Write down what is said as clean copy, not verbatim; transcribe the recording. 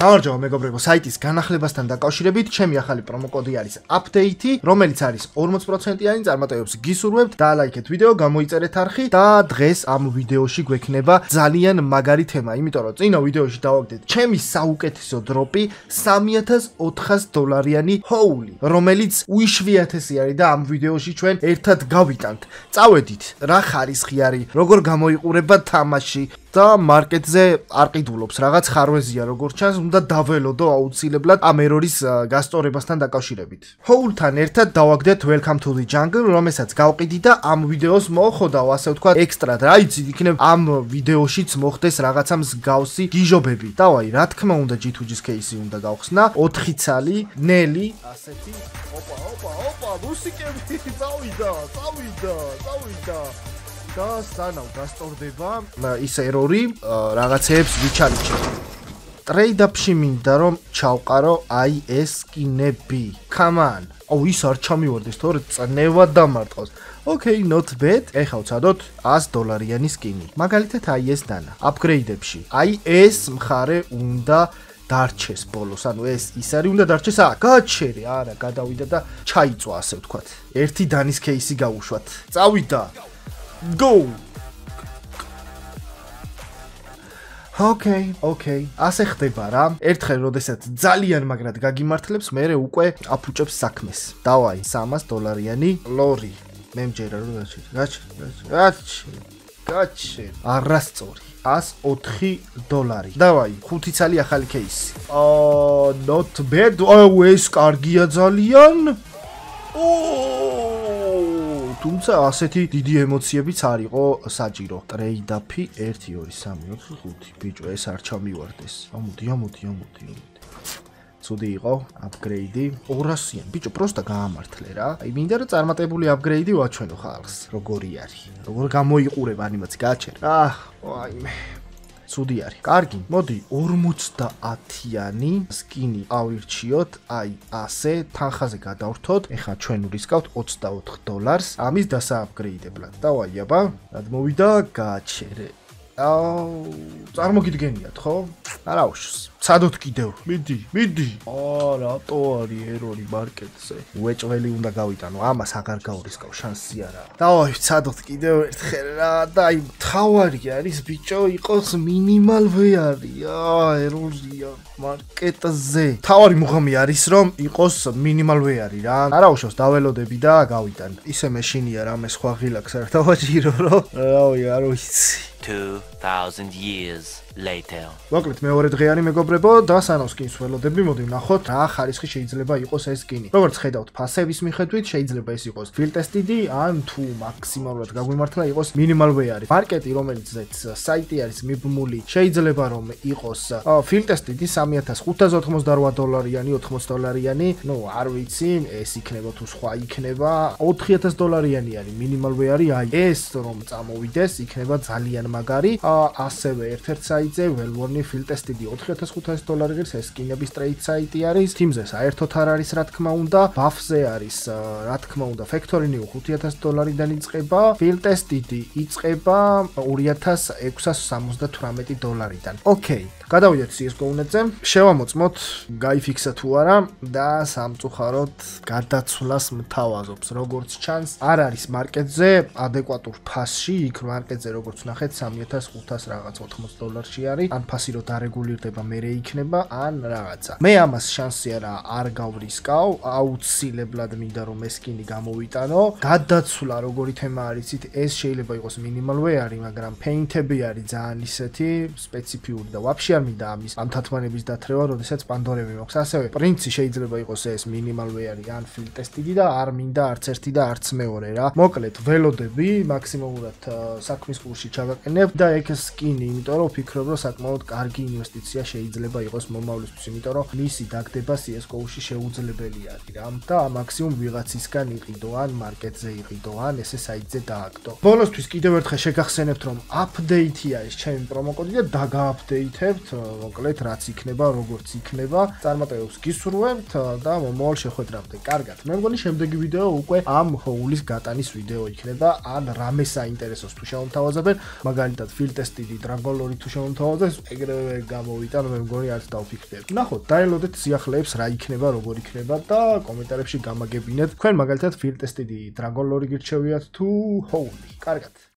გამარჯობა მეგობრებო, საიტის განახლებასთან დაკავშირებით, ჩემი ახალი პრომოკოდი არის update, რომელიც არის 40%-იანი წარმატებებს გისურვებთ, დაალაიქეთ ვიდეო, გამოიწერეთ არხი და დღეს ამ ვიდეოში გვექნება ძალიან მაგარი თემა, იმიტომ რომ წინა ვიდეოში დავაგდეთ ჩემი საუკეთესო დროპი $3,400-იანი ჰოული, რომელიც უიშვიათესი არის და ამ ვიდეოში ჩვენ ერთად გავიტანთ. წავედით, რა ხარისხი არის, როგორ გამოიყურება თამაში და მარკეტზე არ ყიდულობს, რაღაც ხარვეზია როგორც ჩანს, უნდა დაველოდო აუცილებლად ამ ერორის გასწორებასთან დაკავშირებით. ჰოულთან ერთად დავაგდეთ Welcome to the Jungle, რომელსაც გავყიდი და ამ ვიდეოს მოხოდავ, ასე ვთქვათ, ექსტრად. რა იცი, იქნებ ამ ვიდეოშიც მოხდეს რაღაცა მსგავსი გიჟობები. დავაი, რა თქმა უნდა, G2G-ს кейსი უნდა გავხსნა, 4 ცალი, ნელი, ასეთი. ოპა, მუსიკები, წავიდა. და სანამ გასწორდება ის ერორი რაღაცეებს ვიჩალიჩე. ტრეიდაპში მინდა რომ ჩავყარო აი ეს სკინები. Come on. ის არ ჩამივარდეს, თორე წნევა დამარტყავს. Okay, not bad. ეხლა ვცადოთ $100-იანი სკინი. მაგალითად აი ეს დანა. აპგრეიდებში. აი ეს მხარე უნდა დარჩეს ბოლოს, ანუ ეს ის არის უნდა დარჩეს. გაჩერე, არა, გადავიდა და ჩაიწვა, ასე ვთქვათ. ერთი დანის кейსი გავუშვათ. წავიდა. Go. Okay. ასე ხდება რა. ერთხელ როდესაც ძალიან მაგრად გაგიმართლებს, მერე უკვე აფუჭებს საქმეს. დავაი, $300-იანი ლორი. მე მჯერა რომ გაჩერე. არასწორი. $104. დავაი, 5 ცალი ახალი кейსი. Not bad. ეს კარგია ძალიან. თუმცა ასეთი დიდი ემოციებიც არ იყო საჭირო. ტრეიდაფი 1 2 3 4 5. ბიჭო, ეს არ ჩამივარდეს. ამოდი. ცუდი იყო აპგრეიდი 200-იან. ბიჭო, პროსტა გაამართლე რა. აი მინდა რომ წარმატებული აპგრეიდი ვაჩვენო ხალხს. როგორი არის? როგორ გამოიყურება ანიმაცი გააჩერე. ვაიმე. ცუდი არის. კარგი, მოდი 50-იანი სკინი ავირჩიოთ, აი ასე, თანხაზე გადავრთოთ. ეხლა ჩვენ ვრისკავთ $24. ამის დასააპგრეიდებლად. დავაი აბა, რად მოვიდა, გააჩერე. წარმოგიდგენიათ, ხო? არა უშს. ცადოთ კიდევ. მიდი. რატო არის ერორი მარკეტზე? უეჭველი უნდა გავიტანო. ამას აღარ გავრისკავ, შანსი არა. დავაი, ცადოთ კიდევ ერთხელ რა და აი თავარი არის ბიჭო, იყოს მინიმალ ვეარი. ერორია მარკეტზე. თავარი მუღამი არის რომ იყოს მინიმალ ვეარი რა. არა უშავს, დაველოდები და გავიტან. ისე მეშინია რამე სხვა ღილაკს არ დავაჭირო რომ. რავი, არ ვიცი. 2000 years later. მოკლედ მეორე დღეარი მეგობრებო და სანამ სკინს ველოდები, მოდი ვნახოთ რა ხარისხი შეიძლება იყოს ეს სკინი. როგორც ხედავთ, ფასების მიხედვით შეიძლება ეს იყოს filtested ან თუ მაქსიმალურად გაგვიმართლა იყოს minimal wear. მარკეტი რომელიცაც საიტი არის მიბმული, შეიძლება რომ იყოს filtested $3,588-იანი, $80-იანი, არ ვიცი, ეს იქნება თუ სხვა იქნება, $4,000-იანი არის minimal wear. აი ეს რომ წამოვიდეს, იქნება ძალიან მაგარი. ასევე ერთ-ერთ საიტზე well-worn filtested $4,500 ღირს ეს სკინების ტრეიდ საიტი არის. Teams-ზე საერთოდ არ არის რა თქმა უნდა. Buff-ზე არის რა თქმა უნდა Factory New $5,000-დან იწყება. Filtested იწყება $2,678-დან. Okay. გადავიდეთ CS:GO-ზე. შევამოწმოთ, გაიფიქსა თუ არა და სამწუხაროდ გადაცვლას მთავაზობს. როგორც ჩანს, არ არის მარკეტზე ადეკვატურ ფასში, იქ მარკეტზე როგორც ნახეთ $3,500 რაღაც $80 არის. ან ფასი რო დარეგულირდება, მერე იქნება, ან რაღაცა. მე ამას შანსი არ გავრისკავ, აუცილებლად მინდა რომ ეს სკინი გამოვიტანო. გადაცვლა როგორი თემა არის, ეს შეიძლება იყოს minimal wear, მაგრამ paint-ები არის ძალიან ისეთი სპეციფიური და ვაფშე არ მინდა ამ თათმანების დათრევა, როდესაც პანდორები მაქვს. ასევე პრინცი შეიძლება იყოს ეს minimal wear ან filtested და არ მინდა არც ერთი და არც მეორე რა. მოკლედ ველოდები მაქსიმალურად საქმის კურსში ჩავაყენებ და ეგ სკინი, იმიტომ რომ ვფიქრობ, რომ საკმაოდ კარგი ინვესტიცია შეიძლება იყოს მომავლისთვის, იმიტომ რომ მისი დაგდება CS:GO-ში შეუძლებელი არის რა. და მაქსიმუმ ვიღაცისგან იყიდო ან მარკეტზე იყიდო ან ესე საიტზე დააგდო. ბოლოსთვის კიდევ ერთხელ შეგახსენებთ, რომ update-ია ეს ჩემი პრომოკოდი და დაგააპდეითებთ. მოკლედ რაც იქნება, როგორც იქნება. წარმატებებს გისურვებთ და მომავალ შეხვედრამდე. კარგად. მე მგონი შემდეგი ვიდეო უკვე ამ ჰოულის გატანის ვიდეო იქნება. ან რამე საინტერესოს თუ შემოთავაზებენ, მაგალითად ფილტესტიდი დრაგონ ლორი თუ შემოთავაზეს, ეგრევე გამოვიტან, მე მგონი არც დავფიქრდები. ნახოთ, დაელოდეთ სიახლეებს რა იქნება, როგორ იქნება და კომენტარებში გამაგებინეთ. თქვენ მაგალითად ფილტესტიდი დრაგონ ლორი გირჩევიათ თუ ჰოული. კარგად.